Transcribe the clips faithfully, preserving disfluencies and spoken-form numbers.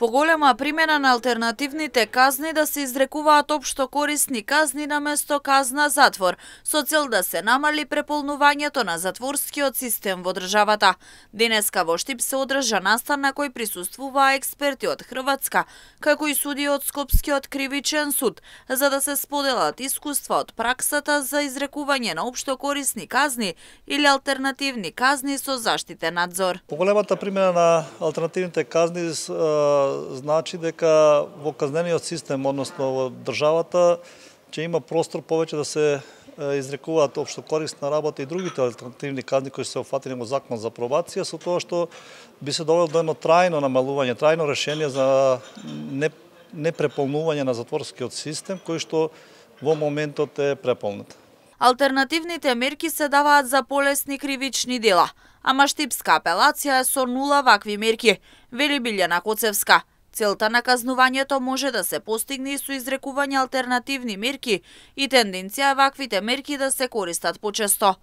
Поголема примена на алтернативните казни да се изрекуваат општо корисни казни наместо казна затвор, со цел да се намали преполнувањето на затворскиот систем во државата. Денеска во Штип се одржа настан на кој присуствуваа експерти од Хрватска, како и суди од Скопскиот кривичен суд, за да се споделат искуства од праксата за изрекување на општо корисни казни или алтернативни казни со заштитен надзор. Поголемата примена на алтернативните казни значи дека во казнениот систем, односно во државата, ќе има простор повеќе да се изрекуваат општо корисна работа и другите алтернативни казни кои се офатени во Закон за пробација, со тоа што би се довело до едно трајно намалување, трајно решение за непреполнување на затворскиот систем, кој што во моментот е преполнет. Алтернативните мерки се даваат за полесни кривични дела, ама Штипска апелација е со нула вакви мерки, вели Билјана Коцевска. Целта на казнувањето може да се постигне и со изрекување алтернативни мерки и тенденција е ваквите мерки да се користат почесто.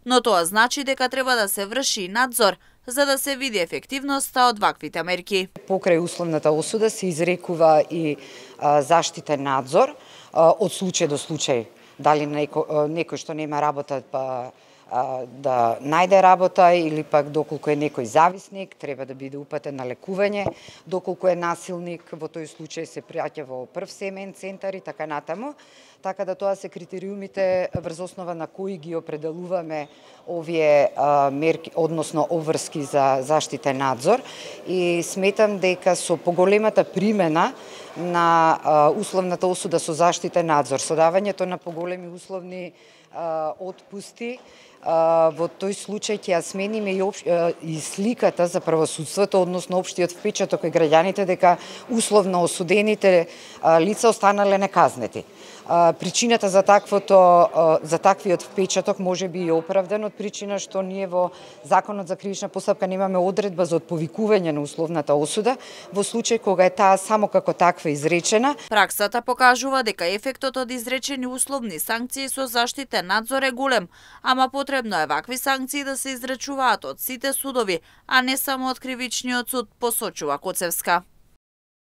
Но тоа значи дека треба да се врши надзор за да се види ефективноста од ваквите мерки. Покрај условната осуда се изрекува и а, заштитен надзор а, од случај до случај. Дали некој, некој што нема работа па да најде работа или пак доколку е некој зависник, треба да биде упатен на лекување, доколку е насилник, во тој случај се праќа во прв семеен центар и така натаму. Така да тоа се критериумите врз основа на кои ги определуваме овие а, мерки, односно обврски за заштитен надзор, и сметам дека со поголемата примена на а, условната осуда со заштитен надзор, со давањето на поголеми условни а, отпусти, во тој случај ќе ја смениме и, общ, и сликата за правосудството, односно општиот впечаток кај граѓаните дека условно осудените лица останале неказнети. Причината за таквото за таквиот впечаток може би е оправдан од причина што ние во Законот за кривична постапка немаме одредба за отповикување на условната осуда во случај кога е таа само како таква изречена. Праксата покажува дека ефектот од изречени условни санкции со заштитен надзор е голем, ама потребно е вакви санкции да се изречуваат од сите судови, а не само од кривичниот суд, посочува Коцевска.